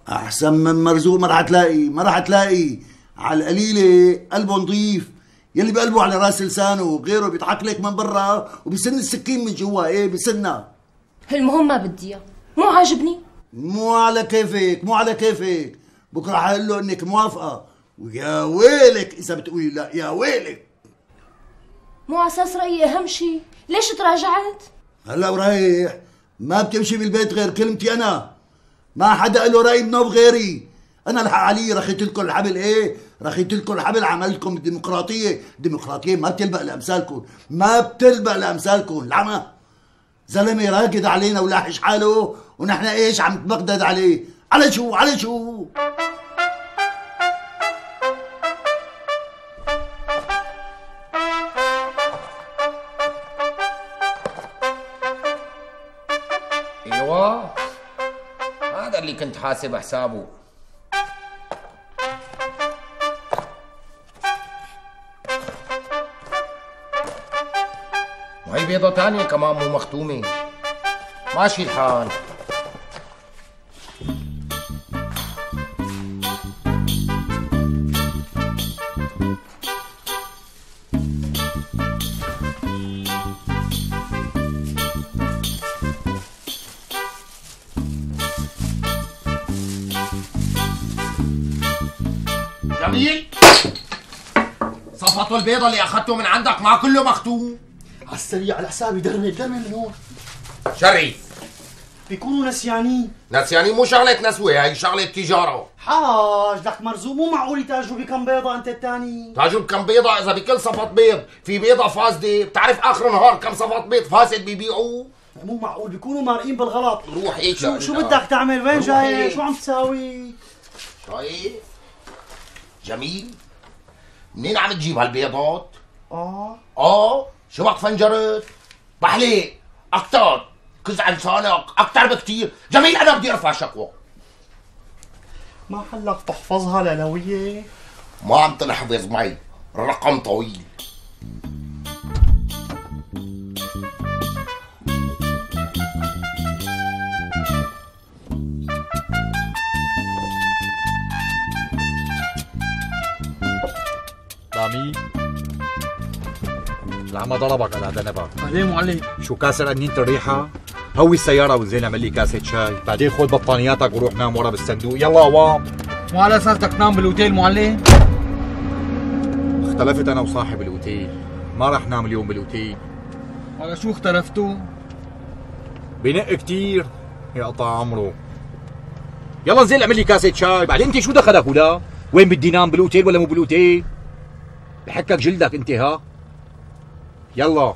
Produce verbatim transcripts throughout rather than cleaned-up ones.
احسن من مرزوق ما رح تلاقي، ما رح تلاقي. على القليله قلبه نظيف، يلي بقلبه على راس لسانه وغيره بيضحك لك من برا وبيسن السكين من جوا. ايه بيسنها. المهم ما بدي اياه، مو عاجبني. مو على كيفك، مو على كيفك. بكره حقول له انك موافقه، ويا ويلك اذا بتقولي لا، يا ويلك. مو على اساس رايي اهم شيء، ليش تراجعت؟ هلا ورايح ما بتمشي بالبيت غير كلمتي انا، ما حدا له راي بنوب غيري. انا الحق علي رخيت لكم الحبل. ايه رخيت لكم الحبل، عملتكم الديمقراطيه. الديمقراطيه ما بتلبق لامثالكم، ما بتلبق لامثالكم. العمى زلمه راكد علينا ولاحش حاله، ونحن ايش عم نتبغدد عليه؟ على شو على شو؟ ايوه هذا اللي كنت حاسب حسابه. وهي بيضة تانية كمان مو مختومة. ماشي الحال. جميل، صفطوا البيضة اللي اخذته من عندك ما كله مختوم. على السريع على حسابي، درمي درمي من هون. شريف بيكونوا نسيانين. نسيانين مو شغلة نسوة، هي شغلة تجارة. حاج لك مرزوق، مو معقول يتاجروا بكم بيضة انت الثاني. تاجروا بكم بيضة؟ اذا بكل صفط بيض في بيضة فاسدة، بتعرف اخر النهار كم صفط بيض فاسد بيبيعوه؟ مو معقول بيكونوا مارقين بالغلط. روح هيك. شو شو بدك تعمل؟ وين جاي؟ شو عم تساوي؟ شايف؟ جميل، منين عم تجيب هالبيضات؟ اه اه شبك فنجرت؟ بحليق اكتر، كز عن لسانك اكتر بكتير. جميل انا بدي ارفع شكوى. ما حلك تحفظها لنوية؟ ما عم تنحفظ معي، الرقم طويل. رامي العمى ضربك على دنبك. بعدين معلم شو كاسر قنينة الريحة؟ هوي السيارة وزين اعمل لي كاسة شاي، بعدين خذ بطانياتك وروح نام ورا بالصندوق. يلا عوام. مو على اساس بدك تنام بالاوتيل معلم؟ اختلفت انا وصاحب الاوتيل، ما رح نام اليوم بالاوتيل. على شو اختلفتوا؟ بنق كتير يقطع عمره. يلا انزل اعمل لي كاسة شاي، بعدين انت شو دخلك ولا؟ وين بدي نام بالاوتيل ولا مو بالاوتيل؟ بحكك جلدك انت ها؟ يلا.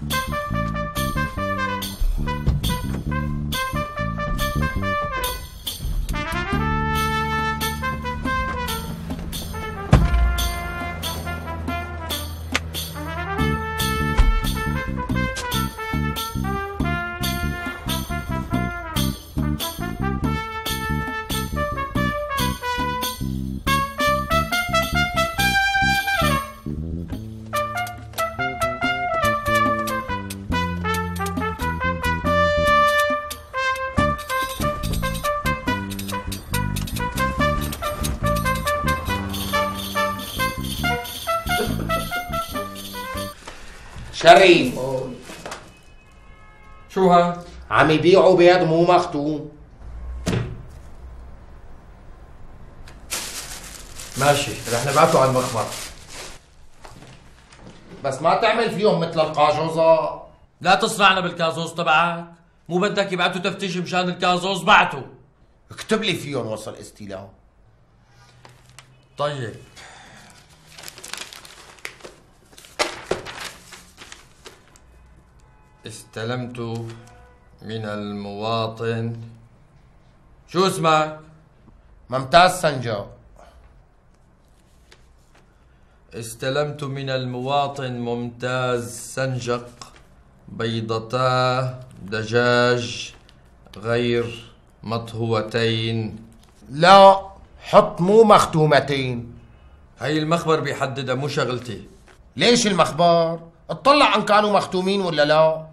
شريف شو ها؟ عم يبيعوا بيض مو مختوم. ماشي رح نبعته على المخبر، بس ما تعمل فيهم مثل القاجوزة. لا تصرعنا بالكازوز تبعك، مو بدك يبعتوا تفتيش مشان الكازوز بعتوا. اكتب لي فيهم وصل استيلاء. طيب استلمت من المواطن. شو اسمك؟ ممتاز سنجا. استلمت من المواطن ممتاز سنجق بيضتا دجاج غير مطهوتين. لا حط مو مختومتين. هي المخبر بيحددها مو شغلتي. ليش المخبر؟ اطلع ان كانوا مختومين ولا لا.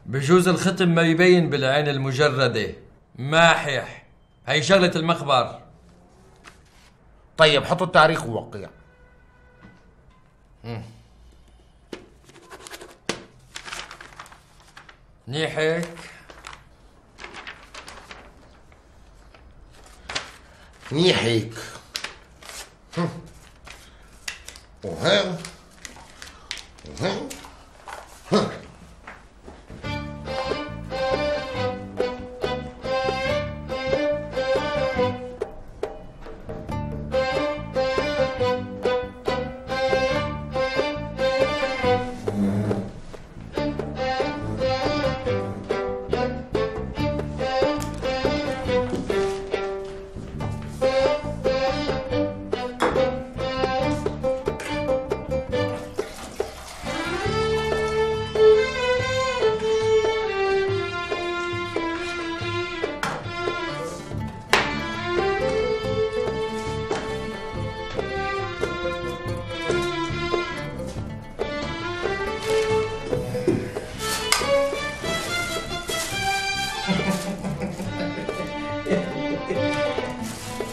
بجوز الختم ما يبين بالعين المجردة. ماحح هي شغلة المخبر. طيب حطوا التاريخ ووقع. منيح هيك؟ منيح هيك. وهين وهين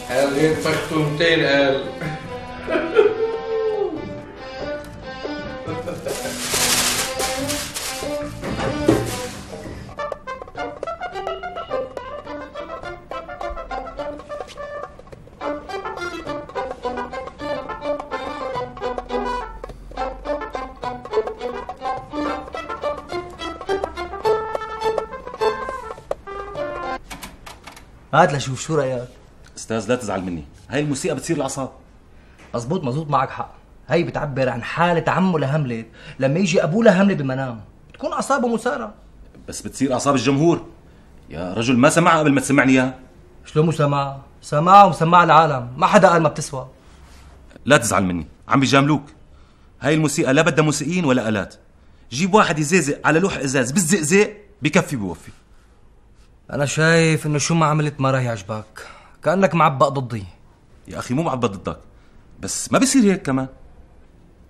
قال طقتوا مئتين قال. هات لشوف شو رايك. استاذ لا تزعل مني، هاي الموسيقى بتصير الاعصاب. مزبوط مزبوط معك حق، هي بتعبر عن حالة عمه لهملت لما يجي ابوه لهملت بمنام، بتكون اعصابه مثارة. بس بتصير اعصاب الجمهور. يا رجل ما سمعها قبل ما تسمعني اياها. شلون مو سمع؟ سمعها ومسمعها العالم، ما حدا قال ما بتسوى. لا تزعل مني، عم بيجاملوك. هاي الموسيقى لا بدها موسيقيين ولا آلات. جيب واحد يزيزق على لوح ازاز بالزقزق بكفي بوفي. انا شايف انه شو ما عملت ما راح يعجبك، كأنك معبق ضدي. يا اخي مو معبد ضدك، بس ما بصير هيك كمان.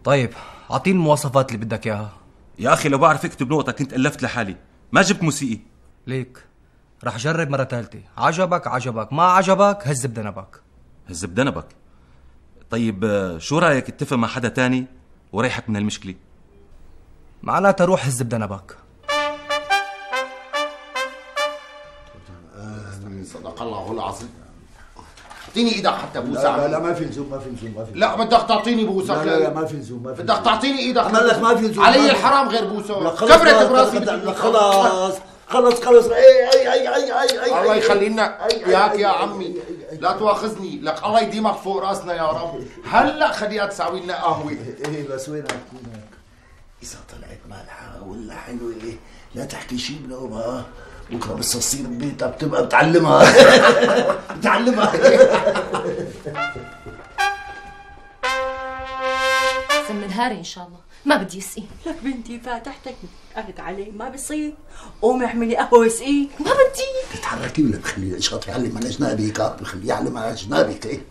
طيب اعطيني المواصفات اللي بدك اياها. يا اخي لو بعرف اكتب نقطة كنت الفت لحالي، ما جبت موسيقي. ليك رح جرب مرة ثالثة، عجبك عجبك، ما عجبك هز بدنبك. هز بدنبك؟ طيب شو رايك اتفق مع حدا تاني وريحك من هالمشكلة؟ معناتها روح هز بدنبك. صدق الله العظيم. اعطيني ايدك حتى بوسه. لا, لا لا ما في لزوم ما في لزوم ما في لزوم. لا بدك تعطيني بوسه. لا لا, لا ما في لزوم ما في بدك تعطيني ايدك. عمل لك ما في لزوم. علي الحرام غير بوسه. كبرت براسي. خلاص خلص خلص. اي اي اي اي اي اي الله يخلي لنا اياك يا عمي. لا تواخذني، لك الله يديمك فوق راسنا يا رب. هلا خليها تساوي لنا قهوه. ايه بس وينك وينك؟ اذا طلعت مالحه ولا حلوه لا تحكي شيء بنوبها، بكره بس تصير ببيتها بتبقى بتعلمها. بتعلمها. سم نهاري ان شاء الله ما بدي اسقي. لك بنتي فاتحتك قالت عليه ما بصير. قومي اعملي قهوه واسقيه. ما بدي. تتحركي ولا بخلي الشاط يعلم على جنابك؟ ها بخليه يعلم على جنابك. ايه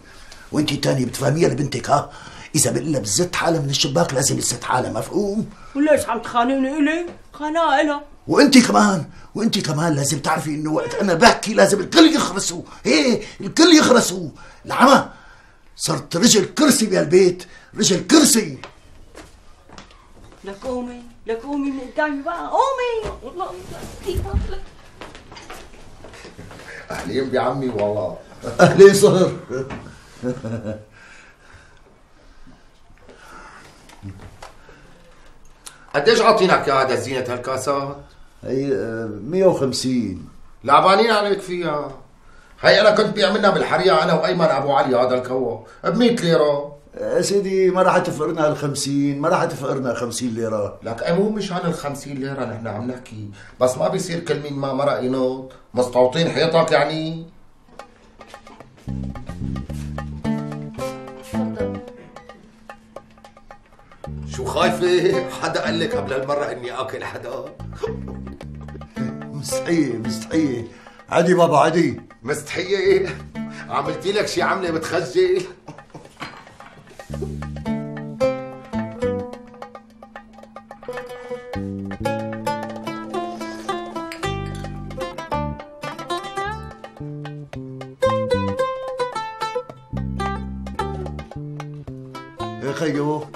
وانتي تاني بتفهميها لبنتك؟ ها اذا بقلها بزت حالها من الشباك لازم تزت حالها، مفهوم؟ وليش عم تخانقني الي؟ خناقه الها. وانتي كمان وانتي كمان لازم تعرفي انه وقت انا بحكي لازم الكل يخرسوا. ايه الكل يخرسوا. العمى صرت رجل كرسي بهالبيت، رجل كرسي. لك قومي لك قومي من قدامي بقى، قومي. والله كيف لك. اهلين بعمي والله. اهلين صهر. قديش عاطينك يا هذا زينة هالكاسات؟ هي مية وخمسين. لعبانين عليك فيها. هي انا كنت بيعملنا بالحرية انا وايمن ابو علي هذا الكوة ب مية ليرة. يا سيدي ما راح تفقرنا الخمسين، ما راح تفقرنا خمسين ليرة. لك اي مو مشان الخمسين ليرة نحن عم نحكي، بس ما بيصير كل مين ما مرق ينط، مستوطين حيطك يعني. تفضل. شو خايفة؟ حدا قال لك قبل هالمرة اني اكل حدا؟ مستحية مستحية. عادي بابا عادي. مستحية؟ عملتي لك شي عملة بتخجل؟ خيو،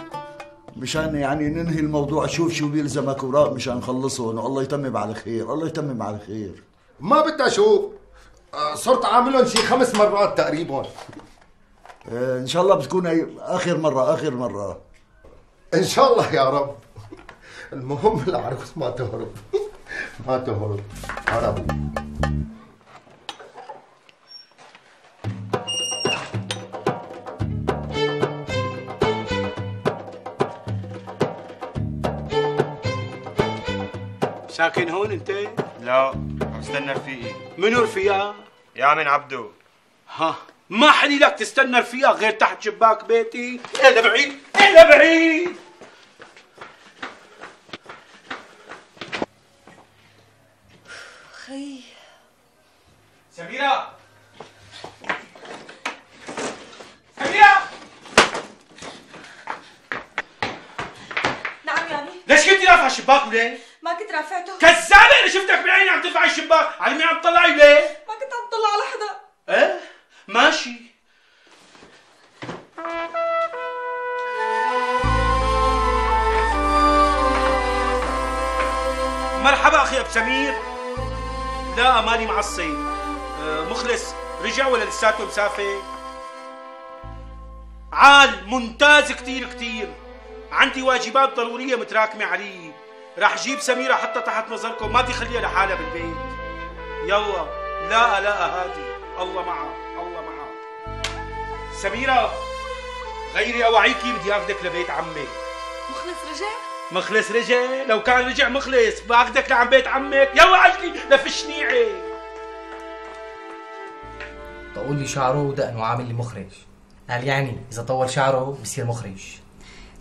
مشان يعني ننهي الموضوع. شوف شو بيلزمك اوراق مشان نخلصهم، والله يتمم على خير، الله يتمم على خير. ما بدي اشوف، صرت عاملهم شي خمس مرات تقريبا. اه ان شاء الله بتكون هي اخر مرة، اخر مرة ان شاء الله يا رب. المهم العروس ما تهرب. ما تهرب. هربوا. ساكن هون انت؟ لا، عم استنى رفيقي. منو رفيقك؟ يا عمين عبدو. ها، ما حلي لك تستنى رفيقك غير تحت شباك بيتي؟ ايه لبعيد، ايه لبعيد. خي سميرة، سميرة، نعم يامي. ليش كنتي رافعة الشباك وليه؟ ما كنت رافعته. كذابة، أنا شفتك بعيني عم ترفعي الشباك، على مين عم تطلعي ليه؟ ما كنت عم طلع على حدا. ايه؟ ماشي. مرحبا اخي ابو سمير. لا ماني معصي. أه مخلص رجع ولا لساته مسافر؟ عال ممتاز كتير كتير. عندي واجبات ضرورية متراكمة علي. راح جيب سميرة حتى تحت نظركم، ما تخليها لحالها بالبيت. يلا لا لا هادي، الله معها الله معها. سميرة غيري اواعيكي، بدي اخذك لبيت عمك. مخلص رجع؟ مخلص رجع؟ لو كان رجع مخلص باخذك لعم بيت عمك. يلا عجلي لفشنيعي. طول لي شعره ودقنه وعامل لي مخرج. قال يعني اذا طول شعره بصير مخرج.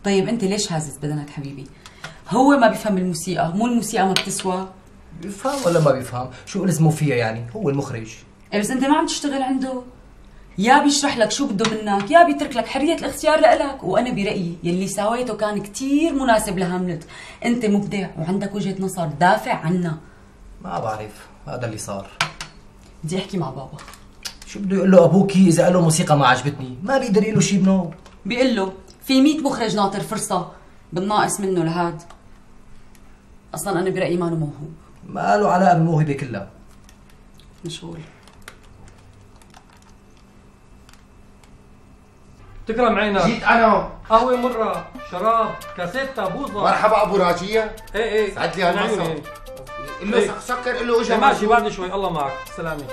طيب انت ليش هازز بدنك حبيبي؟ هو ما بيفهم الموسيقى، مو الموسيقى ما بتسوى. بيفهم ولا ما بيفهم؟ شو لزمه فيها يعني؟ هو المخرج. ايه بس انت ما عم تشتغل عنده. يا بيشرح لك شو بده منك، يا بيترك لك حرية الاختيار لإلك. وانا برأيي يلي سويته كان كتير مناسب لهاملت. انت مبدع وعندك وجهة نظر، دافع عنا. ما بعرف، هذا اللي صار. بدي احكي مع بابا. شو بده يقول له ابوكي اذا قال له موسيقى ما عجبتني؟ ما بيقدر يقول له شيء بنو. بيقول له في مية مخرج ناطر فرصة، بالناقص منه لهاد. اصلا انا برأيي ما له موهوب. ما له علاقة بالموهبة كلها. مشغول. تكرم عينك. جيت انا. قهوة مرة، شراب، كاسيتا، بوظة. مرحبا ابو راجية. ايه ايه سعد لي هالمسا. قل له سكر، قل له اجا. ماشي بعد شوي. الله معك. سلامة.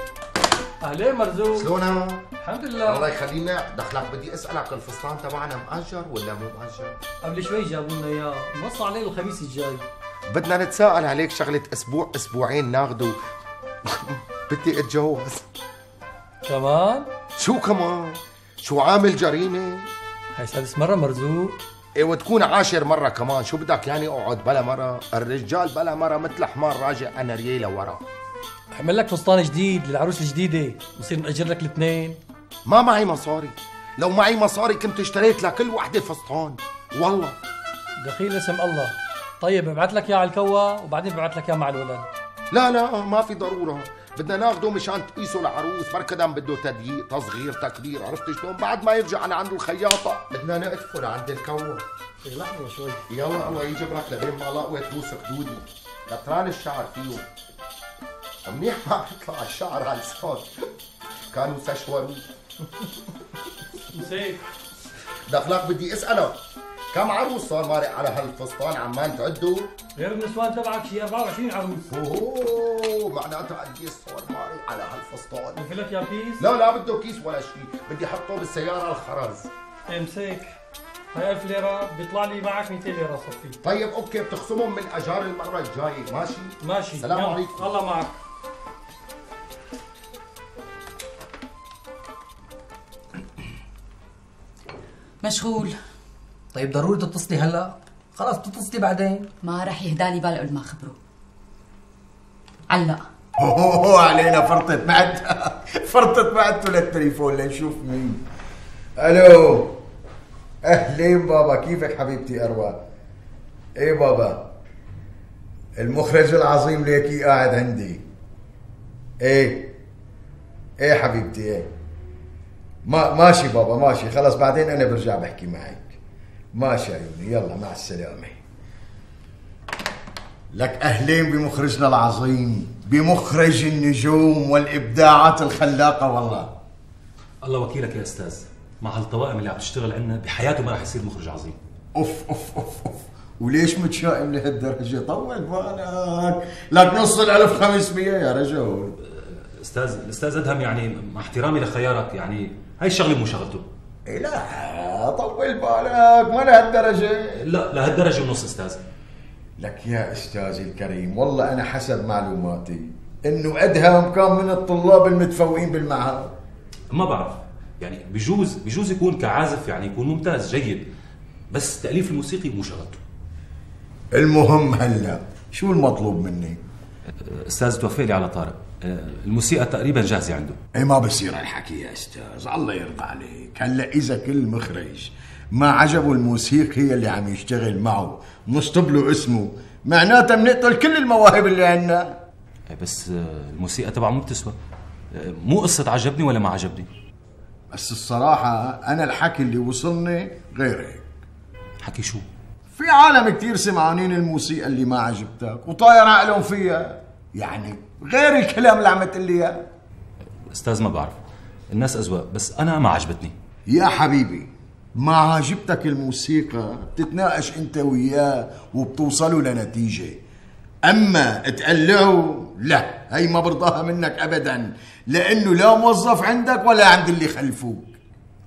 اهلين مرزوق. شلونك؟ الحمد لله. الله يخلينا. دخلك بدي اسالك، الفستان تبعنا مأجر ولا مو مأجر؟ قبل شوي جابوا لنا اياه، نص عليه الخميس الجاي. بدنا نتساءل عليك شغلة اسبوع اسبوعين ناخده. بدي اتجوز. كمان؟ شو كمان؟ شو عامل جريمة؟ هاي سادس مرة مرزوق. ايه وتكون عاشر مرة كمان. شو بدك يعني اقعد بلا مرة؟ الرجال بلا مرة مثل حمار راجع انا ريالة ورا. اعمل لك فستان جديد للعروس الجديدة، بصير نأجر لك الاثنين. ما معي مصاري. لو معي مصاري كنت اشتريت لكل وحدة فستان والله. دخيل اسم الله. طيب ببعث لك اياه على الكوا وبعدين ببعث لك اياه مع الولد. لا لا ما في ضرورة. بدنا ناخده مشان تقيسه العروس، بركدام بده تدقيق تصغير تكبير، عرفت شلون؟ بعد ما يرجع انا عند الخياطة بدنا نقدفه لعند الكوا. لحظة شوي. يلا الله يجبرك لبين ما لقوة توثق دودي. كتران الشعر فيه. منيح ما بيطلع الشعر على الصوت. كانوا سشوروا. مسيك. دخلك بدي اسألك، كم عروس صار مارق على هالفستان عمان تعدوا؟ غير النسوان تبعك شي أربعة وعشرين عروس. اوه معناته قديش صار مارق على هالفستان؟ بفي لك يا كيس؟ لا لا بده كيس ولا شيء، بدي احطه بالسيارة الخرز. امسك. هاي ألف ليرة بيطلع لي معك مئتين ليرة صفي. طيب اوكي بتخصمهم من اجار المرة الجاية، ماشي؟ ماشي. السلام عليكم. الله معك. مشغول. طيب ضروري تتصلي هلا؟ خلاص بتتصلي بعدين. ما راح يهدالي بال قبل ما خبره. علق. اوه علينا فرطت بعد. فرطت بعدته للتليفون لنشوف مين. الو. اهلين بابا، كيفك حبيبتي اروى؟ ايه بابا، المخرج العظيم ليكي قاعد عندي. ايه ايه حبيبتي ايه. ما ماشي بابا ماشي، خلص بعدين انا برجع بحكي معك. ماشي عيوني، يلا مع السلامة. لك أهلين بمخرجنا العظيم، بمخرج النجوم والإبداعات الخلاقة والله. الله وكيلك يا أستاذ، مع هالطوائم اللي عم تشتغل عنا بحياته ما رح يصير مخرج عظيم. أوف أوف أوف أوف، وليش متشائم لهالدرجة؟ طول بالك، لك نص الألف خمسمية يا رجل. أستاذ الأستاذ أدهم، يعني مع احترامي لخيارك، يعني هاي الشغلة مو شغلته. إيه لا طول بالك، ما لهالدرجة. لا لهالدرجة ونص أستاذ. لك يا أستاذي الكريم، والله أنا حسب معلوماتي إنه أدهم كان من الطلاب المتفوقين بالمعهد. ما بعرف، يعني بجوز بجوز يكون كعازف يعني يكون ممتاز جيد، بس تأليف الموسيقي مو شغلته. المهم هلا شو المطلوب مني؟ أستاذ توفق لي على طارق، الموسيقى تقريبا جاهزة عنده. ايه ما بصير هالحكي يا استاذ، الله يرضى عليك. هلا إذا كل مخرج ما عجبه الموسيقي هي اللي عم يشتغل معه نشطب له اسمه، معناتها بنقتل كل المواهب اللي عندنا. بس الموسيقى تبعه مو بتسوى، مو قصة عجبني ولا ما عجبني. بس الصراحة أنا الحكي اللي وصلني غير هيك. حكي شو؟ في عالم كتير سمعانين الموسيقى اللي ما عجبتك وطاير عقلهم فيها، يعني غير الكلام اللي عم تقول لي اياه. استاذ ما بعرف، الناس أذواق، بس أنا ما عجبتني. يا حبيبي ما عجبتك الموسيقى بتتناقش أنت وياه وبتوصلوا لنتيجة، أما تقلعوا لا، هي ما برضاها منك أبدا، لأنه لا موظف عندك ولا عند اللي خلفوك.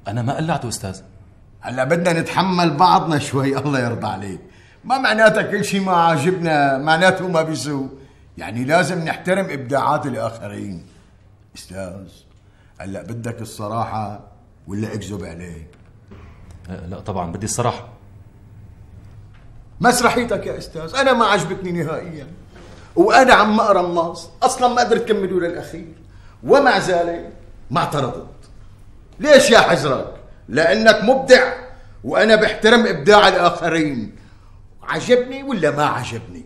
أنا ما قلعته أستاذ. هلا بدنا نتحمل بعضنا شوي، الله يرضى عليك. ما معناتها كل شيء ما عاجبنا معناته ما بيسوء، يعني لازم نحترم إبداعات الآخرين. أستاذ هلا بدك الصراحة ولا أكذب عليك؟ أه لا طبعا بدي الصراحة. مسرحيتك يا أستاذ أنا ما عجبتني نهائيا، وأنا عم أقرا النص أصلا ما قدرت كملوا للأخير، ومع ذلك ما اعترضت. ليش يا حزرك؟ لأنك مبدع وأنا بحترم إبداع الآخرين. عجبني ولا ما عجبني؟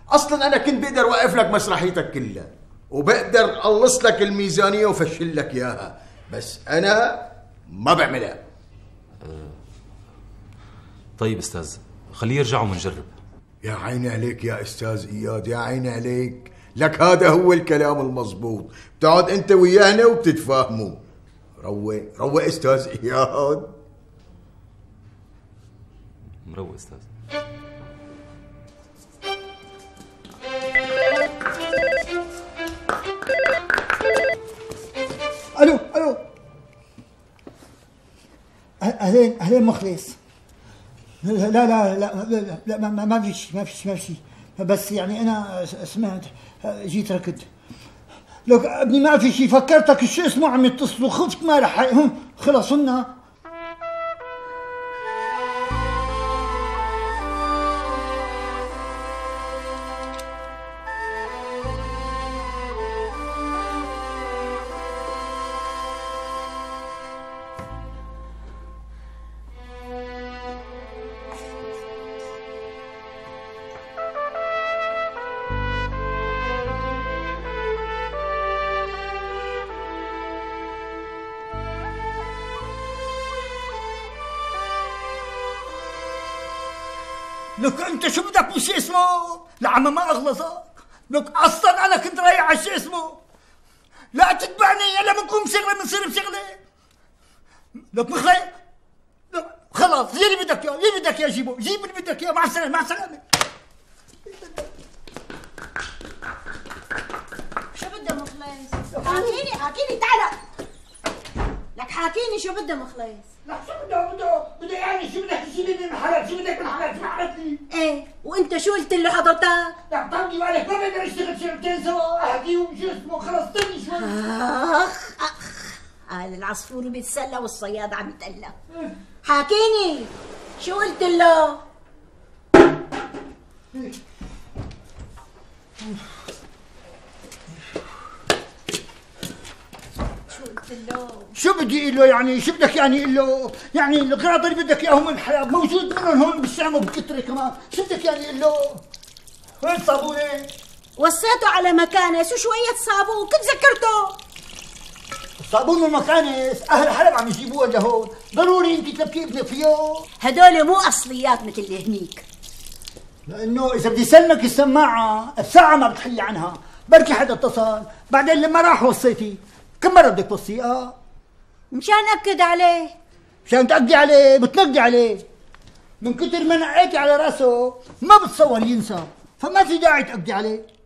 أصلا أنا كنت بقدر وقف لك مسرحيتك كلها وبقدر أقلص لك الميزانية وفشل لك إياها، بس أنا ما بعملها. أه طيب أستاذ خليه يرجع ونجرب. يا عيني عليك يا أستاذ إياد، يا عيني عليك، لك هذا هو الكلام المضبوط، بتقعد أنت ويانا وبتتفاهموا. روق روق أستاذ إياد. مروق أستاذ. الو الو اهلين اهلين مخلص. لا لا لا لا, لا ما, ما في شيء ما في شيء ما في شيء، بس يعني انا سمعت جيت ركض. لك ابني ما في شيء، فكرتك شو اسمه عم يتصلوا، خفت ما رح خلص هن. لك انت شو بدك بشي اسمه؟ لعم ما اغلظك. لك اصلا انا كنت رايح على شو اسمه، لا تتبعني الا بنقوم شغله بنصير بشغله. لك مخلي لك خلاص زي اللي بدك اياه، اللي بدك اياه جيبه، جيب اللي بدك اياه. مع السلامه مع السلامه. شو بدها مخلص؟ حاكيني حاكيني تعال لك حاكيني شو بدها مخلص؟ لك شو بده بده بده يعني شو بدك تجيبي من حالك؟ شو بدك من حالك؟ شو عملت لي؟ ايه وانت شو قلت له حضرتك؟ لك طلقي بالك ما بقدر اشتغل شغلتين سوا، احكي وشو اسمه خلصتني شوي. اخ اخ قال العصفور بيتسلى والصياد عم يتقلى. حاكيني شو قلت له؟ شو بدي اقول له يعني؟ شو بدك يعني اقول له؟ يعني الغراض اللي بدك اياهم من الحياه موجود منهم هون بالشام وبكتره كمان، شو بدك يعني اقول له؟ وين الصابونه؟ وصيته على مكانه، شو شويه صابون كنت ذكرته. صابون المكانس اهل حلب عم يجيبوها لهون، ضروري انت تلبكي ابنك فيه. هدول مو اصليات مثل اللي هنيك. لانه اذا بدي سلمك السماعه الساعه ما بتحلي عنها، بركي حدا اتصل، بعدين لما راح وصيتي كم مره بدك توصيها؟ مشان اكد عليه. مشان تأكدي عليه بتنقدي عليه، من كتر ما نقيتي على راسه ما بتصور ينسى، فما في داعي تأكدي عليه.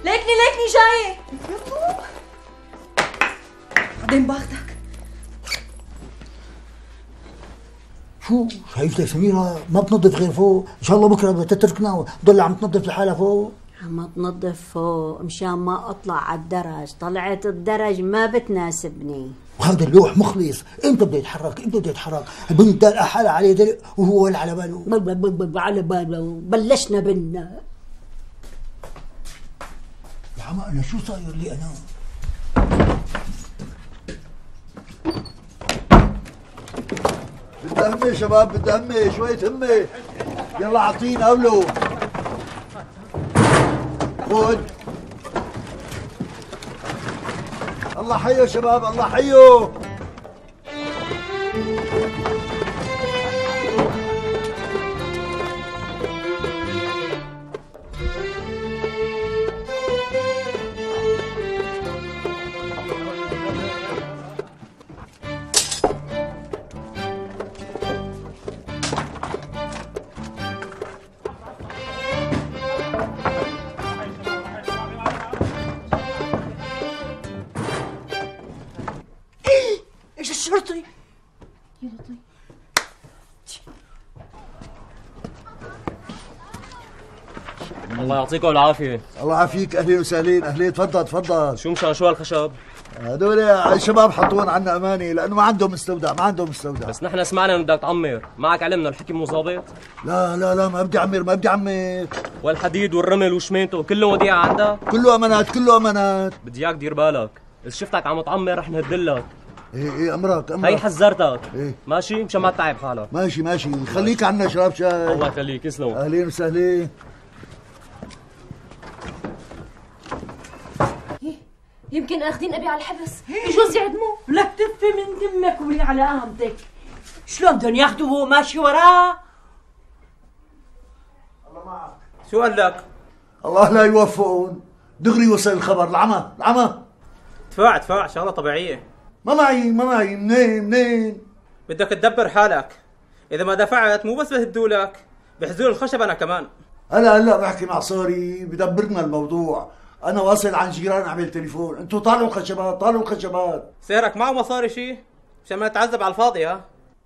ليكني ليكني جاية. بعدين باخدك. شو شايفتها سميرة ما بتنظف غير فوق، ان شاء الله بكره بدها تتركنا وتضل عم تنظف لحالها فوق. عم تنظف فوق مشان ما اطلع على الدرج، طلعت الدرج ما بتناسبني. وهذا اللوح مخلص، امتى بده يتحرك؟ امتى بده يتحرك؟ البنت دلقة حالها عليه دلق وهو ولا على باله. على باله، بلشنا بنا. يا عم انا شو صاير لي انا؟ بدي همي شباب، بدي همي شوية همي. يلا اعطينا قبله. خذ. الله حيو شباب، الله حيو. الشرطي. يا لطيف. الله يعطيكم العافية. الله يعافيك، اهلين وسهلين، اهلين، تفضل تفضل. شو مشان شو هالخشب؟ هدول الشباب حطوهم عنا امانه لانه ما عندهم مستودع، ما عندهم مستودع. بس نحن سمعنا انه بدك تعمر، معك علمنا الحكي مو ظابط؟ لا لا لا ما بدي اعمر، ما بدي اعمر. والحديد والرمل وشمينته كله وديعة عندك؟ كله امانات، كله امانات. بدي اياك دير بالك، اذا شفتك عم تعمر رح نهدلك. ايه ايه امرك امرك. هي حذرتك. ايه ماشي مشان ما تتعب حالك. ماشي ماشي، خليك عنا شراب شاي. الله يخليك، يسلم. اهلين وسهلين. يمكن اخذين ابي على الحبس، بجوز يعدموه. لك تفي من دمك ولي على قامتك. شلون بدهم ياخذوه وهو ماشي وراه؟ الله معك. شو قال لك؟ الله لا يوفقهم، دغري وصل الخبر. العمى العمى. دفاع دفاع شغله طبيعيه. ما معي ما معي. منين منين؟ بدك تدبر حالك، اذا ما دفعت مو بس بهدولك، بحزول الخشب انا كمان. هلا هلا بحكي مع صاري بدبرنا الموضوع. انا واصل عن جيران اعمل تليفون، انتوا طالعوا خشبات طالعوا خشبات. سيرك معه مصاري شي؟ مشان ما نتعذب على الفاضي. ها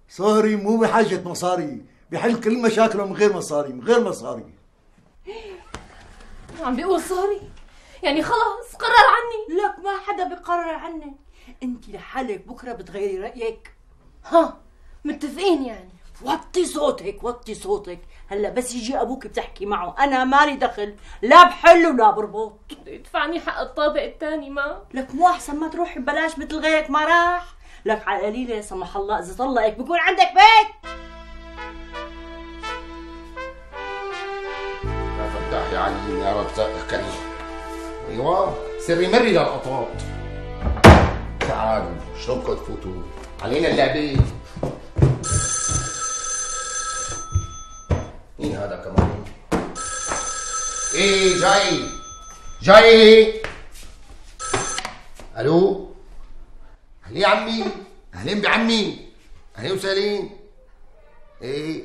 صاري مو بحاجة مصاري، بحل كل مشاكله من غير مصاري، من غير مصاري. عم بيقول صاري؟ يعني خلاص قرر عني؟ لك ما حدا بيقرر عنك، انت لحالك بكره بتغيري رايك. ها متفقين يعني؟ وطي صوتك وطي صوتك، هلا بس يجي ابوك بتحكي معه انا مالي دخل، لا بحل ولا بربط. بده يدفعني حق الطابق الثاني. ما لك مو احسن ما تروحي ببلاش مثل غيرك ما راح؟ لك على القليله لا سمح الله اذا طلقك بكون عندك بيت. يا فتاح يا عليم يا رب كريم. ايوه سري مري للقطاط. تعالوا شلونكم تفوتوا؟ علينا اللعبه. مين هذا كمان؟ ايه جاي جاي. الو اهلين عمي، اهلين بعمي، اهلين وسهلين. ايه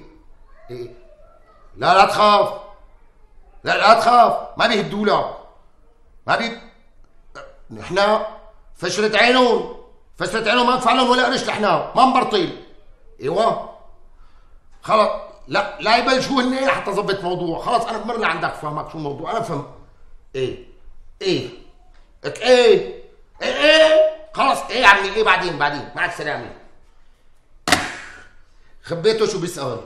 ايه لا لا تخاف، لا لا تخاف، ما بيهدولك، ما بي نحنا فشلت عينهم، فشلت عينهم ما ندفع لهم ولا قرش، نحنا ما نبرطل. ايوه خلص، لا لا يبلشوا هن حتى ظبط موضوع. خلاص انا بمر لعندك فهمك شو الموضوع. انا فهم ايه ايه لك ايه ايه ايه خلص ايه يا عمي ايه بعدين بعدين مع السلامه. خبيته شو بيسأل.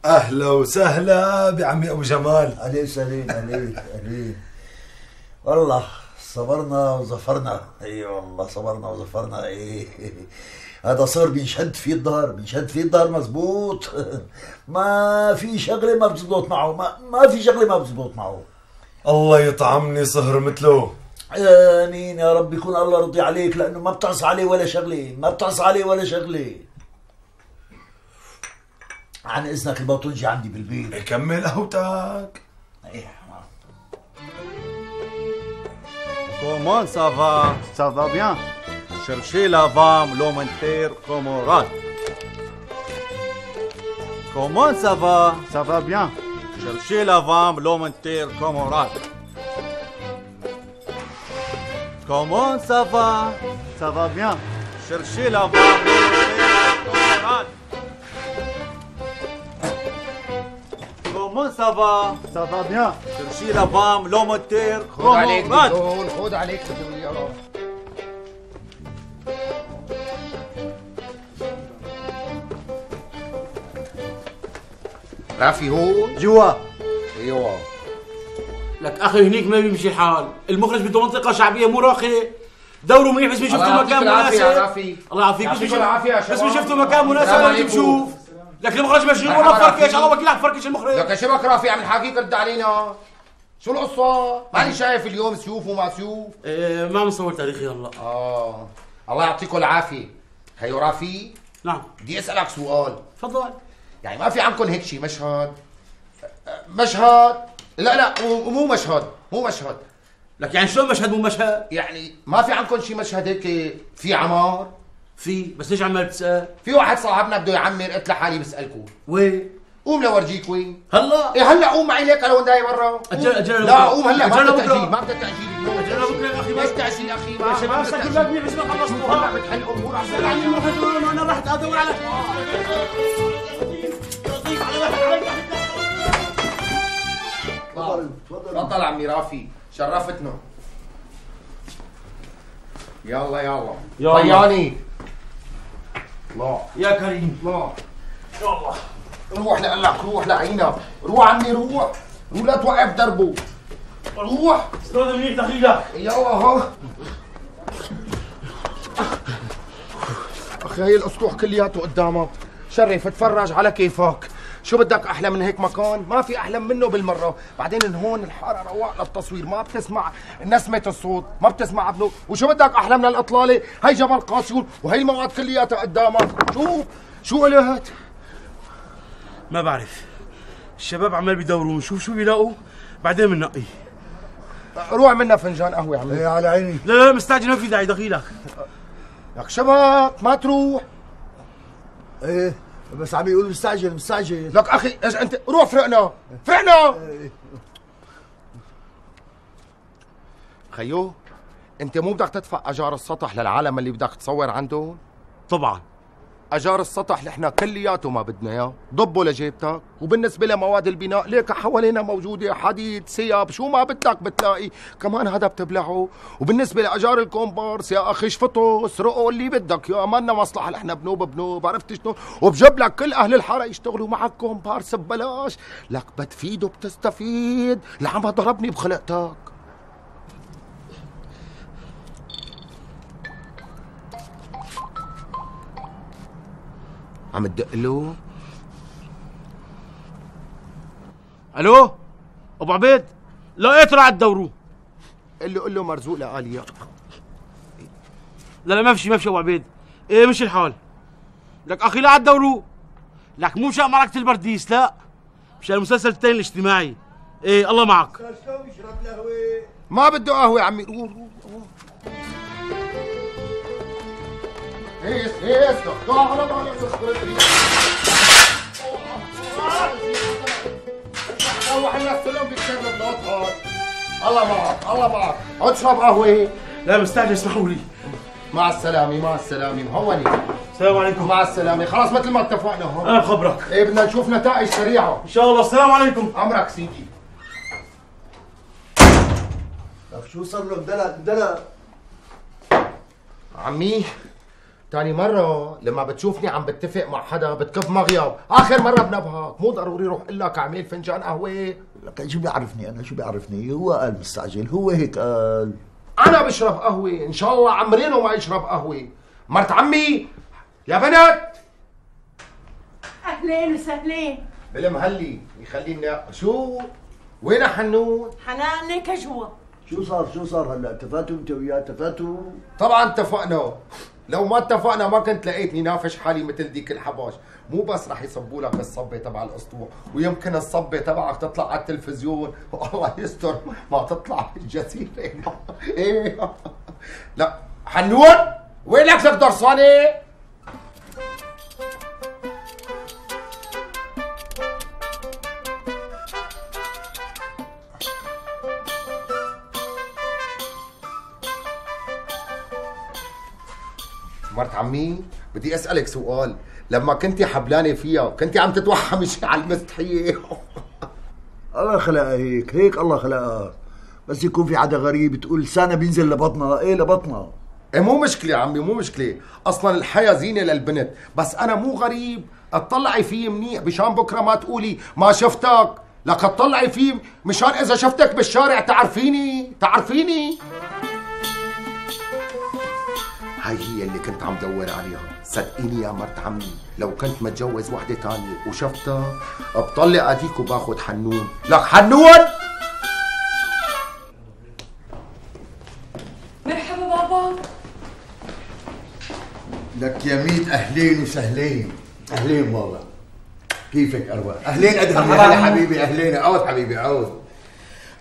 اهلا وسهلا بعمي ابو جمال. عليك سليم، عليك عليك. والله صبرنا وظفرنا. اي والله صبرنا وظفرنا. ايه هذا صار بينشد فيه الدار، بينشد فيه الدار مزبوط. ما في شغله ما بتزبط معه، ما, ما في شغله ما بتزبط معه. الله يطعمني صهر مثله. امين يا رب. يكون الله رضي عليك، لانه ما بتعصى عليه ولا شغله، ما بتعصى عليه ولا شغله. عن اذنك الباطونجي عندي بالبيت. كمل قهوتك. Comment ça va? Ça va bien. Cherchez la femme, l'homme inter, Comorat. Comment ça va? Ça va bien. Cherchez la femme, l'homme inter, Comorat. Comment ça va? Ça va bien. Cherchez la femme, l'homme inter, Comorat. Comment ça va? Ça va bien. Cherchez la femme, l'homme inter, خد عليك Comorat. بدون، خد عليك بدون يا رب. رافي هون جوا. ايوه. لك اخي هنيك ما بيمشي الحال، المخرج بده منطقه شعبيه مو راقيه. دوروا منيح بس ما شفتوا مكان مناسب. الله يعافيك. بس بس ما شفتوا مكان مناسب ولا تشوف. لك المخرج مشغول والله فركش، الله وكيلك فركش المخرج. لك شبك رافي عم نحاكيك رد علينا. شو القصة؟ ماني شايف اليوم سيوف وما سيوف. ايه ما بنصور تاريخي هلا. اه الله يعطيكم العافية. هيو رافي؟ نعم. بدي اسألك سؤال. تفضل. يعني ما في عندكم هيك شيء مشهد؟ مشهد؟ لا لا مو مشهد، مو مشهد. لك يعني شلون مشهد مو مشهد؟ يعني ما في عندكم شيء مشهد هيك في عمار؟ في، بس ليش عمال بتسأل؟ في واحد صاحبنا بده يعمر، قلت لحالي بسألكم. وين؟ قوم لورجيك وين؟ هلا؟ ايه هلا قوم معي ليك انا وين داي برا؟ أجل أجل لا قوم هلا، ما بدك بكرة. تأجيل، ما بدك تأجيل. أجل بكره يا أخي. ليش تأجيل يا أخي؟ يا شباب سكر بابني بس ما خلصتوا. هلا بتحل أمور أحسن. يعني المخرج أنا رحت أدور على تفضل تفضل عمي رافي، شرفتنا. يلا يلا يلا. طياني. الله يا كريم. الله يلا روح لقلك، روح لعينك، روح عمي روح، روح لا توقف دربه، روح. استاذ منيح دخيلك. يلا ها اخي هي الاسطوح كلياته قدامك، شرف اتفرج على كيفك. شو بدك احلى من هيك مكان؟ ما في احلى منه بالمره. بعدين هون الحاره رواق للتصوير، ما بتسمع نسمه الصوت، ما بتسمع ابنه. وشو بدك احلى من الاطلاله؟ هي جبل قاسيون وهي المواد كلياتها قدامك. شو شو قلت؟ ما بعرف، الشباب عمال بيدوروا نشوف شو بيلاقوا بعدين بننقي. روح منا فنجان قهوه يا عمي. ايه على عيني. لا لا مستعجل، ما في داعي دخيلك. لك شبك ما تروح. ايه بس عم يقول مستعجل مستعجل. لك اخي انت روح فرقنا فرقنا. خيو انت مو بدك تدفع اجار السطح للعالم اللي بدك تصور عندهم؟ طبعا اجار السطح نحن كلياته ما بدنا اياه، ضبه لجيبتك. وبالنسبه لمواد البناء ليك حوالينا موجوده، حديد، سياب، شو ما بدك بتلاقي، كمان هذا بتبلعه. وبالنسبه لاجار الكومبارس يا اخي شفطوا سرقوا اللي بدك يا، ما لنا مصلحه نحن بنوب بنوب، عرفت شلون؟ وبجيب لك كل اهل الحاره يشتغلوا معك كومبارس ببلاش. لك بتفيد وبتستفيد، العمى ضربني بخلقتك. عم تدق له؟ الو ابو عبيد، لقيته رح تدوروه. قل له قل له مرزوق لآليا. لا لا ما في شيء، ما في شيء ابو عبيد. ايه مش الحال. لك اخي لا تدوروه. لك مو مشان معركة البرديس، لا مشان المسلسل الثاني الاجتماعي. ايه الله معك. ما بده قهوة عمي. روح روح هيس هيس ضاع على بالك روح نغسلهم بالشرب لا تخاف. الله معك الله معك. عد اشرب قهوة. لا مستعجل اسمحوا لي. مع السلامة مع السلامة مهوني. السلام عليكم. مع السلامة. خلاص مثل ما اتفقنا هون. انا بخبرك. ايه بدنا نشوف نتائج سريعة ان شاء الله. السلام عليكم. امرك سيدي. طيب شو صار له؟ اندلق اندلق عمي تاني مرة لما بتشوفني عم بتفق مع حدا بتكب مغيب، آخر مرة بنبهك، مو ضروري روح قل لك اعمل فنجان قهوة. لك شو بيعرفني أنا شو بيعرفني؟ هو قال مستعجل، هو هيك قال. أنا بشرب قهوة، إن شاء الله عمرينه ما يشرب قهوة. مرت عمي يا بنات. اهلين وسهلين. بالمهلي يخليني شو؟ وين حنون؟ حنانك جوا. شو صار شو صار هلا؟ اتفقتوا انت وياه اتفقتوا؟ طبعا اتفقنا، لو ما اتفقنا ما كنت لقيتني نافش حالي مثل ديك الحباش. مو بس رح يصبوا لك الصبه تبع الاسطوح، ويمكن الصبه تبعك تطلع على التلفزيون، والله يستر ما تطلع بالجزيره. ايه لا حنون وين لك لك درسانه؟ مرت عمي بدي اسالك سؤال، لما كنتي حبلانه فيها كنتي عم تتوحمي على المستحيه؟ الله خلقها هيك، هيك الله خلقها. بس يكون في حدا غريب تقول لسانها بينزل لبطنها، ايه لبطنها. ايه مو مشكله عمي مو مشكله، اصلا الحياه زينه للبنت، بس انا مو غريب، اطلعي فيه منيح مشان بكره ما تقولي ما شفتك، لك اطلعي فيه مشان اذا شفتك بالشارع تعرفيني تعرفيني. هاي هي اللي كنت عم دور عليها، صدقيني يا مرت عمي لو كنت متجوز وحده تانية وشفتها بطلع اديك وباخذ حنون. لك حنون مرحبا بابا. لك يا ميت اهلين وسهلين. اهلين والله. كيفك اروى؟ اهلين ادهم يا حبيبي. اهلين عود حبيبي عود.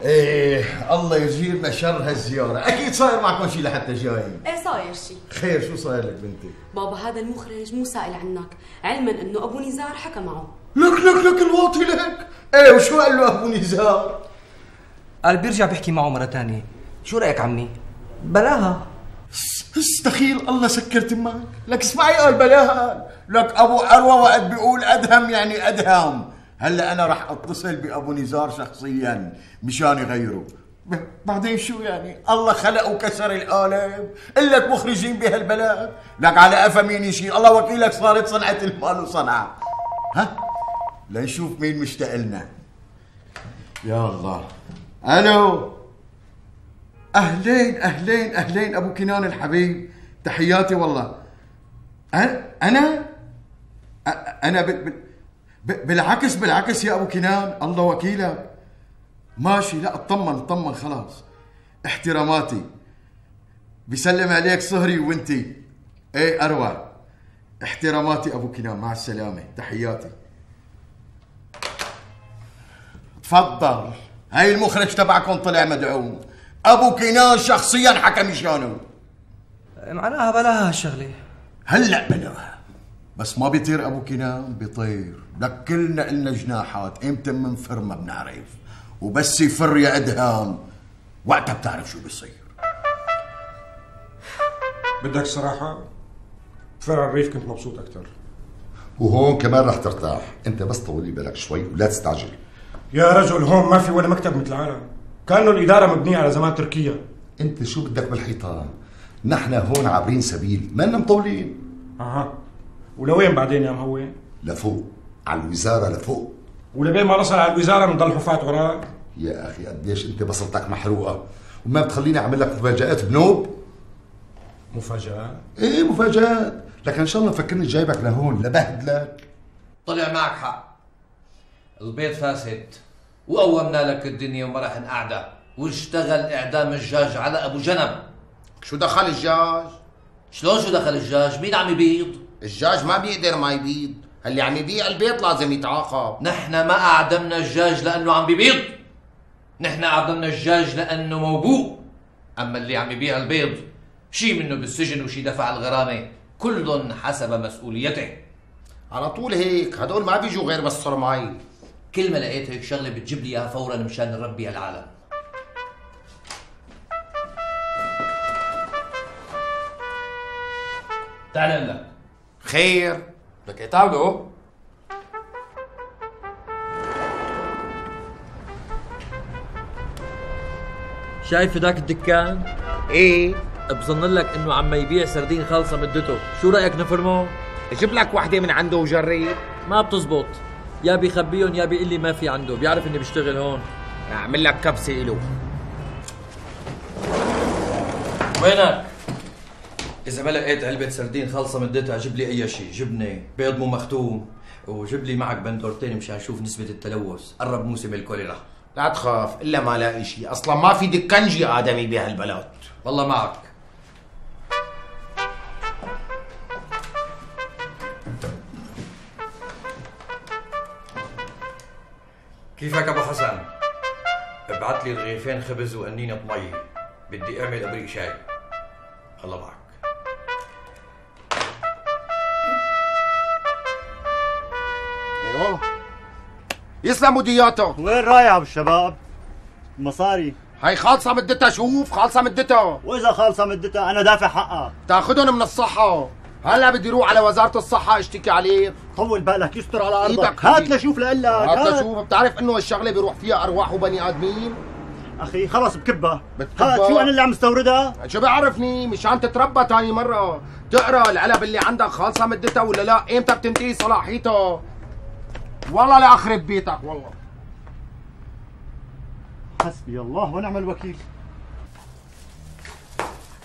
ايه الله يجيرنا شر هالزياره. اكيد صاير معكم شيء لحتى جايين. ايه صاير شيء. خير شو صاير لك بنتي؟ بابا هذا المخرج مو سائل عنك، علما انه ابو نزار حكى معه. لك لك لك الواطي لك. ايه وشو قال له ابو نزار؟ قال بيرجع بيحكي معه مره ثانيه. شو رايك عمي؟ بلاها. استخيل الله سكرت معك. لك اسمعي قال بلاها. لك ابو اروى وقت بيقول ادهم يعني ادهم. هلا انا رح اتصل بابو نزار شخصيا مشان يغيره. بعدين شو يعني؟ الله خلق وكسر القالب، إلك مخرجين بهالبلد، لك على قفا مين يشيل، الله وكيلك صارت صنعة المال وصنعة. ها؟ لنشوف مين مشتاق لنا. يا الله. الو. اهلين اهلين اهلين ابو كنان الحبيب، تحياتي والله. انا انا انا ب... ب... بالعكس بالعكس يا ابو كنان، الله وكيلك. ماشي لا اطمن اطمن خلاص. احتراماتي. بيسلم عليك صهري وانتي. ايه اروى. احتراماتي ابو كنان، مع السلامة، تحياتي. تفضل. هاي المخرج تبعكم طلع مدعوم. ابو كنان شخصيا حكى مشانه. معناها بلاها هالشغلة. هلا بلاها. بس ما بيطير ابو كنان، بيطير. لك كلنا إلنا جناحات، امتى منفر ما بنعرف، وبس يفر يا ادهام وقتها بتعرف شو بيصير. بدك صراحة بفرع الريف كنت مبسوط أكثر. وهون كمان رح ترتاح، انت بس طولي بالك شوي ولا تستعجل. يا رجل هون ما في ولا مكتب مثل العالم، كأنه الإدارة مبنية على زمان تركيا. انت شو بدك بالحيطان؟ نحن هون عابرين سبيل، ما لنا مطولين. اها. ولوين بعدين يا مهوي؟ لفوق، على الوزارة لفوق. ولبين ما نصل على الوزارة بنضل حفاة وراء. يا اخي قديش انت بصرتك محروقة، وما بتخليني اعمل لك مفاجآت بنوب؟ مفاجآت؟ ايه مفاجآت، لكن ان شاء الله فكرني جايبك لهون لبهدلك. طلع معك حق، البيت فاسد وقومنا لك الدنيا وما راح نقعدها، واشتغل اعدام الجاج على ابو جنب. شو دخل الجاج؟ شلون شو دخل الجاج؟ مين عم يبيض؟ الجاج ما بيقدر ما يبيض، اللي عم يبيع البيت لازم يتعاقب. نحن ما اعدمنا الجاج لانه عم بيبيض، نحن اعدمنا الجاج لانه موبوء. اما اللي عم يبيع البيض شي منه بالسجن وشي دفع الغرامه، كل حسب مسؤوليته. على طول هيك، هدول ما بيجوا غير بالصرماي. كل ما لقيت هيك شغله بتجيب لي اياها فورا مشان نربي هالعالم. تعال لك. خير؟ لك اتعودوا. شايف ذاك الدكان؟ ايه بظن لك انه عم يبيع سردين خالصه مدته، شو رايك نفرمه؟ جيب لك وحده من عنده وجرب. ما بتزبط، يا بيخبيهم يا بيقول لي ما في عنده، بيعرف اني بشتغل هون. اعمل لك كبسه له. وينك؟ إذا ما لقيت علبة سردين خالصة مدتها جيب لي أي شيء، جبنة، بيض مو مختوم، وجيب لي معك بندورتين مشان نشوف نسبة التلوث، قرب موسم الكوليرا. لا تخاف إلا ما لاقي شيء، أصلا ما في دكنجي آدمي بهالبلد. والله معك. كيفك أبو حسن؟ ابعت لي رغيفين خبز وقنينة مي، بدي أعمل أبريق شاي. الله معك. ايوه يسلموا دياته. وين رايح ابو الشباب؟ مصاري هاي خالصة مدتها، شوف خالصة مدتها. واذا خالصة مدتها انا دافع حقها. تاخذهم من الصحة. هلا بدي روح على وزارة الصحة اشتكي عليك. طول بالك يستر على ارضك. هات لشوف لقلك. هات لشوف. بتعرف انه هالشغلة بيروح فيها ارواح وبني ادمين؟ اخي خلص بكبها. هات شو انا اللي عم استوردها؟ شو بيعرفني مشان تتربى تاني مرة تقرا العلب اللي عندك خالصة مدتها ولا لا، امتى بتنتهي صلاحيتها. والله لا اخرب بيتك والله. حسبي الله ونعم الوكيل.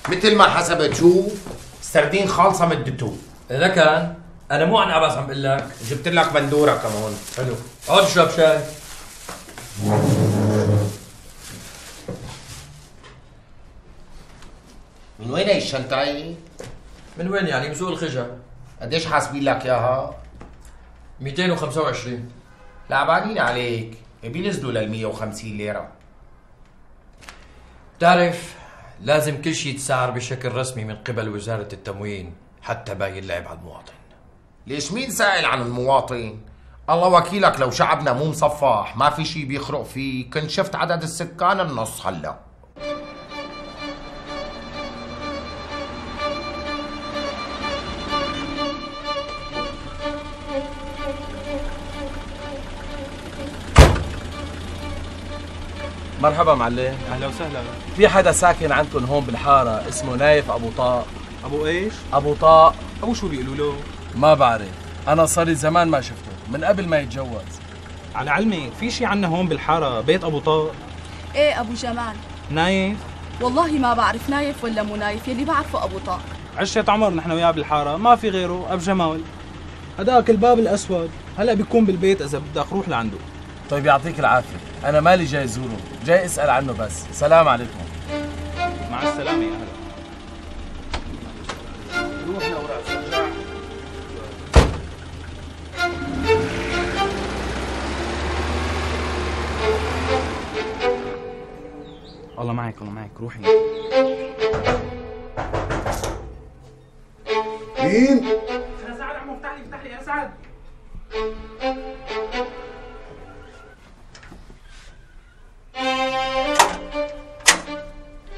مثل ما حسبت شوف سردين خالصة مدته. إذا كان أنا مو عن عباس عم بقول لك، جبت لك بندورة كمان. حلو، اقعد اشرب شاي. من وين هي الشنطة؟ من وين يعني؟ من سوق الخشب. قديش حاسبين لك اياها؟ مئتين وخمسة وعشرين. لعبانين عليك، بينزلوا لل مئة وخمسين ليرة. بتعرف لازم كل شيء يتسعر بشكل رسمي من قبل وزارة التموين حتى باقي اللعب على المواطن. ليش مين سائل عن المواطن؟ الله وكيلك لو شعبنا مو مصفح ما في شيء بيخرق فيه كنت شفت عدد السكان النص هلا. مرحبا معلم. اهلا وسهلا. في حدا ساكن عندكم هون بالحاره اسمه نايف ابو طاق؟ ابو ايش؟ ابو طاق. ابو شو بيقولوا له؟ ما بعرف، انا صار لي زمان ما شفته، من قبل ما يتجوز. على علمك في شي عنا هون بالحاره بيت ابو طاق؟ ايه ابو جمال. نايف؟ والله ما بعرف نايف ولا مو نايف، يلي بعرفه ابو طاق. عشرة عمر نحن وياه بالحاره، ما في غيره ابو جمال. هداك الباب الاسود، هلا بيكون بالبيت اذا بدك روح لعنده. طيب يعطيك العافيه، انا مالي جاي زوره، جاي اسال عنه بس. سلام عليكم. مع السلامه يا اهلا. روح لوراء سرجع. الله معك الله معك، روحي. مين؟ انا سعد عمو، افتح لي افتح لي يا سعد.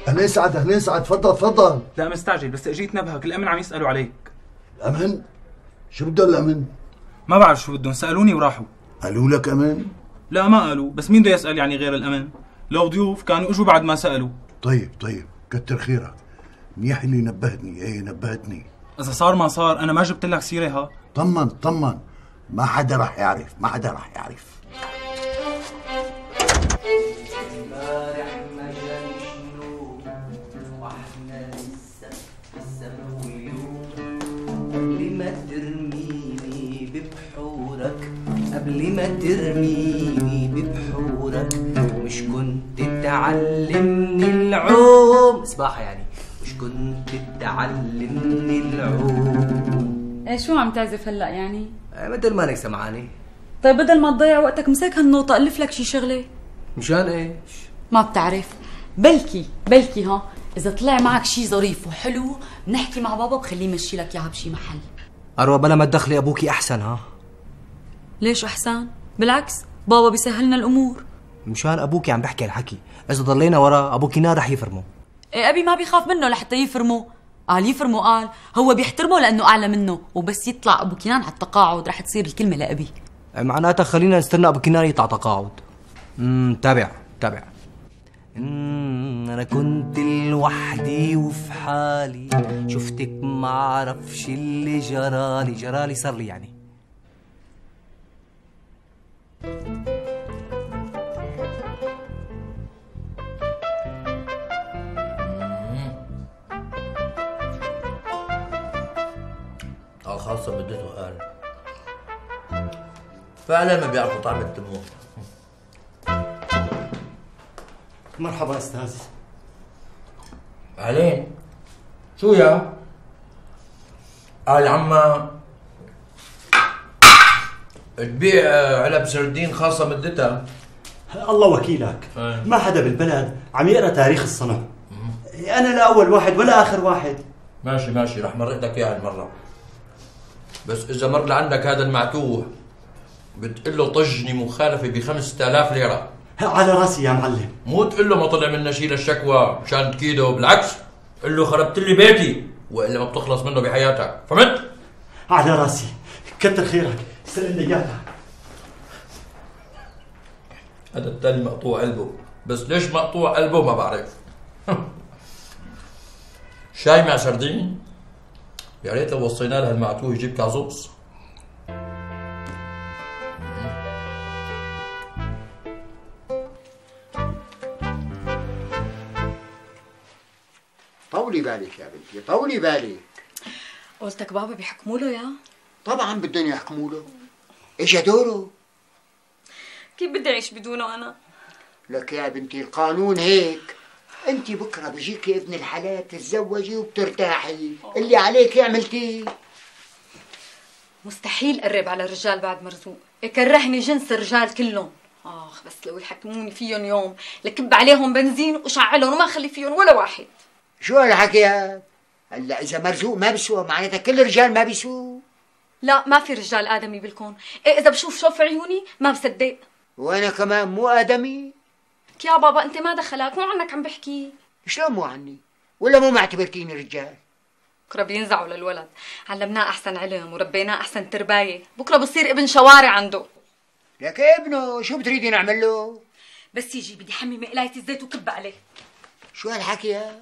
اهلين سعد، اهلين سعد، تفضل تفضل. لا مستعجل بس اجيت نبهك، الامن عم يسالوا عليك. الامن؟ شو بده الامن؟ ما بعرف شو بدهم، سالوني وراحوا. قالوا لك امن؟ لا ما قالوا، بس مين بده يسال يعني غير الامن؟ لو ضيوف كانوا اجوا بعد ما سالوا. طيب طيب كتر خيرك، منيح اللي نبهتني. ايه نبهتني. اذا صار ما صار انا ما جبت لك سيره. ها طمن طمن، ما حدا رح يعرف، ما حدا رح يعرف. قبل ما ترميني ببحورك، قبل ما ترميني ببحورك، مش كنت تعلمني العوم سباحة يعني، مش كنت تعلمني العوم. ايه شو عم تعزف هلا يعني؟ ايه مثل ما انك سمعاني. طيب بدل ما تضيع وقتك مسك هالنوطة ألف لك شي شغلة. مشان ايش؟ ما بتعرف، بلكي بلكي ها إذا طلع معك شي ظريف وحلو بنحكي مع بابا بخليه يمشي لك إياها بشي محل. أروى بلا ما تدخلي أبوكي أحسن. ها ليش أحسن؟ بالعكس بابا بيسهلنا الأمور. مشان أبوكي عم بحكي الحكي، إذا ضلينا ورا أبوكي نار رح يفرمه. إيه أبي ما بيخاف منه لحتى يفرمه. قال يفرمه، قال هو بيحترمه لأنه أعلى منه، وبس يطلع أبو كنان على التقاعد رح تصير الكلمة لأبي. معناتها خلينا نستنى أبو كنان يطلع تقاعد. امم تابع تابع. انا كنت لوحدي وفي حالي، شفتك ما عرفش اللي جرالي، جرالي صار لي يعني. خاصة بدته قال فعلا ما بيعرفوا طعم التمور. مرحبا استاذ. اهلين. شو يا؟ قال عما تبيع علب سردين خاصة مدتها. الله وكيلك، ما حدا بالبلد عم يقرا تاريخ الصنع. انا لا اول واحد ولا اخر واحد. ماشي ماشي رح مرق لك اياها المرة، بس إذا مر لعندك هذا المعتوه بتقول له طجني مخالفة بخمسة آلاف ليرة. على راسي يا معلم. مو تقول له ما طلع منا شيء للشكوى مشان تكيده، بالعكس قل له خربت لي بيتي وإلا ما بتخلص منه بحياتك، فهمت؟ على راسي، كتر خيرك، سلم لي إياها. هذا التاني مقطوع قلبه، بس ليش مقطوع قلبه ما بعرف. شاي مع سردين؟ يا ريت لو وصينا لها المعتوه يجيب كازوس. طولي بالك يا بنتي، طولي بالك. قلتك بابا بيحكموا له يا؟ طبعا بدهم يحكموا له، اجا دوره. كيف بدي اعيش بدونه انا؟ لك يا بنتي القانون هيك، انت بكره بيجيكي ابن الحلال تتزوجي وبترتاحي، اللي عليك عملتيه. مستحيل قرب على الرجال بعد مرزوق، يكرهني جنس الرجال كلهم. اخ بس لو يحكموني فيهم يوم لكب عليهم بنزين وشعلهم وما خلي فيهم ولا واحد. شو هالحكي هاد؟ هلا اذا مرزوق ما بسوى معناتها كل الرجال ما بيسووا؟ لا ما في رجال ادمي بالكون، إيه اذا بشوف شوف عيوني ما بصدق. وانا كمان مو ادمي؟ يا بابا انت ما دخلك، مو عنك عم بحكي. شلون مو عني؟ ولا مو معتبرتيني رجال؟ بكره بينزعوا للولد، علمناه احسن علم وربيناه احسن تربايه، بكره بصير ابن شوارع عنده. لك ابنه شو بتريدي نعمل له؟ بس يجي بدي حمي مقلاية الزيت وكب عليه. شو هالحكي يا؟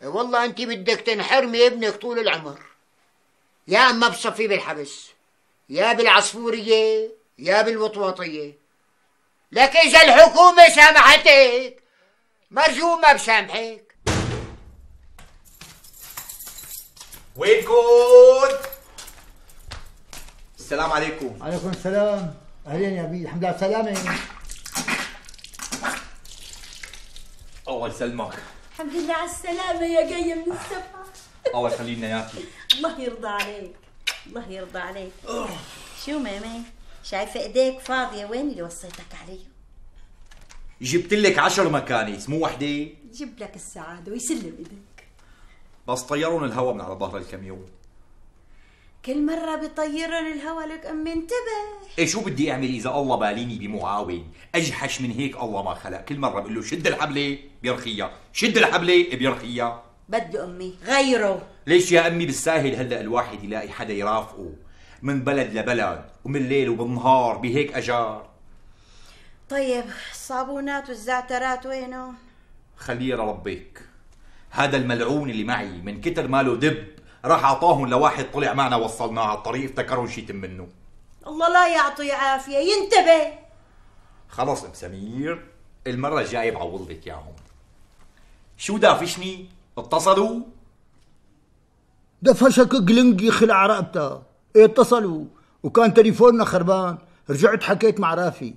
إيه والله انت بدك تنحرمي ابنك طول العمر، يا اما بصفيه بالحبس يا بالعصفوريه يا بالوطواطيه. لك اذا الحكومه سامحتك مرزوق ما بسامحك. وينكم؟ السلام عليكم. عليكم السلام. اهلين يا بي، الحمد لله على السلامة. الله يسلمك. الحمد لله على السلامة يا جاية من السفر. الله يخلي لنا اياكي. الله يرضى عليك، الله يرضى عليك. شو ماما؟ شايفة ايديك فاضية، وين اللي وصيتك عليه؟ جبت لك عشر مكانس مو وحدة. جيب لك السعادة ويسلم ايديك. بس طيرون الهوا من على ظهر الكاميون. كل مرة بيطيرن الهوا لك امي انتبه. ايه شو بدي اعمل اذا الله باليني بمعاون اجحش من هيك الله ما خلق، كل مرة بقول له شد الحبلة بيرخيها، شد الحبلة بيرخيها. بده امي غيره. ليش يا امي بالساهل هلا الواحد يلاقي حدا يرافقه من بلد لبلد ومن الليل وبالنهار بهيك اجار. طيب الصابونات والزعترات وينهم؟ خليه لربك. هذا الملعون اللي معي من كتر ماله دب راح اعطاهم لواحد طلع معنا وصلناه على الطريق افتكرهم شيء منه. الله لا يعطيه عافية، ينتبه. خلص ام سمير المرة الجاية بعوض لك اياهم. شو دافشني؟ اتصلوا؟ دفشك قلنقي خلع رقبتها. ايه اتصلوا وكان تليفوننا خربان، رجعت حكيت مع رافي.